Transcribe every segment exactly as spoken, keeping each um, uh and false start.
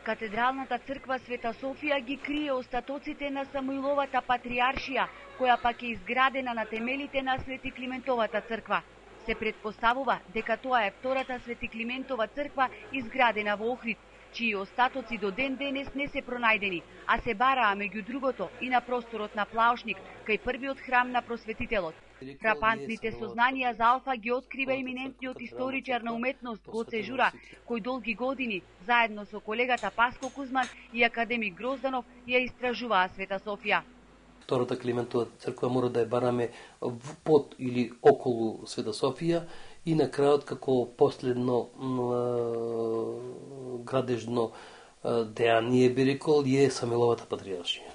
Катедралната црква Света Софија ги крие остатоците на Самуиловата патриаршија, која пак е изградена на темелите на Свети Климентовата црква. Се предпоставува дека тоа е втората Свети Климентова црква изградена во Охрид, чии остатоци до ден денес не се пронајдени, а се бараа меѓу другото и на просторот на Плаошник, кај првиот храм на просветителот. Фрапантните сознанија за Алфа ги открива еминентниот историчар на уметност Гоце Жура, кој долги години, заедно со колегата Паско Кузман и академик Грозданов, ја истражуваа Света Софија. Втората Климентова црква мора да ја бараме под или околу Света Софија и на крајот како последно градежно дејание би рекол е Самуиловата патриаршија.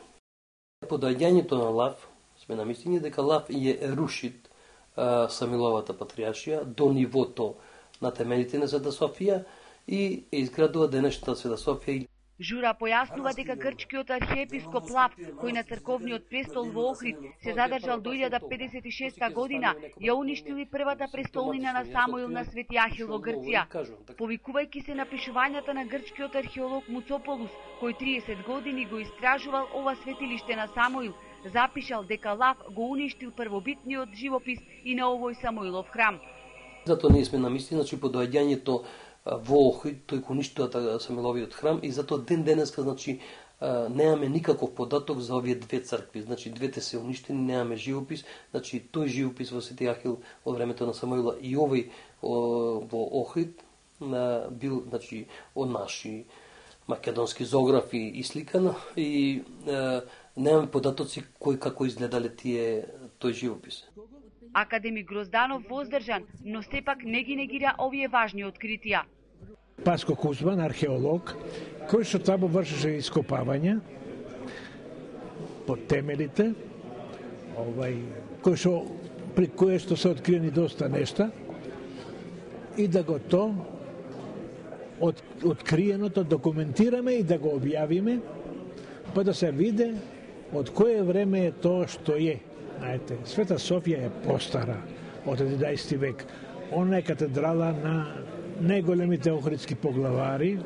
По доаѓањето на Лав сме на мислење дека Лав ја рушит Самуиловата патриаршија до нивото на темелите на Света Софија и изградува денешната Света Софија. Жура појаснува дека грчкиот архиепископ Лав, кој на црковниот престол во Охрид се задржал до илјада педесет и шеста година, ја уништили првата престолнина на Самуил на Свети Ахил во Грција. Повикувајќи се на пишувањата на грчкиот археолог Муцополус, кој триесет години го истражувал ова светилиште на Самуил, запишал дека Лав го уништил првобитниот живопис и на овој Самуилов храм. Затоа ние сме на мислење, значи по доаѓањето во Охрид тој го уништува Самуиловиот храм и затоа ден денеска значи немаме никаков податок за овие две цркви. Значи двете се уништени, немаме живопис, значи тој живопис во Свети Ахил од времето на Самуила и овој во Охрид бил значи од наши македонски зоографи исликан и немаме податоци кој како изгледале тие тој живопис. Академик Грозданов воздржан, но сепак не ги негира овие важни откритија. Паско Кузман, археолог, кој што таму вршеше ископавања под темелите, овај, кој што при кое што се откриени доста нешта и да го то од, откриеното документираме и да го објавиме, па да се види од кое време е тоа што е. Знаете, Света Софија е постара од единаесети век. Она е катедрала на најголемите охридски поглавари.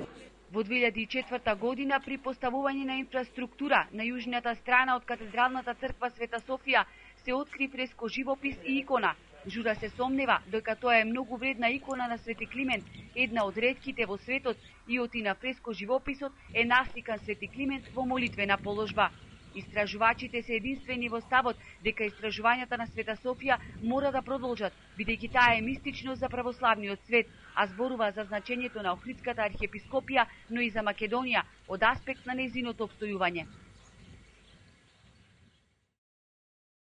Во две илјади и четврта година при поставување на инфраструктура на јужната страна од катедралната црква Света Софија се откри фреско живопис и икона. Жура се сомнева дека тоа е многу вредна икона на Свети Климент, една од ретките во светот, и оти на фреско живописот е насликан Свети Климент во молитвена положба. Истражувачите се единствени во ставот дека истражувањата на Света Софија мора да продолжат, бидејќи таа е мистично за православниот свет, а зборува за значењето на Охридската архиепископија, но и за Македонија од аспект на нејзиното обстојување.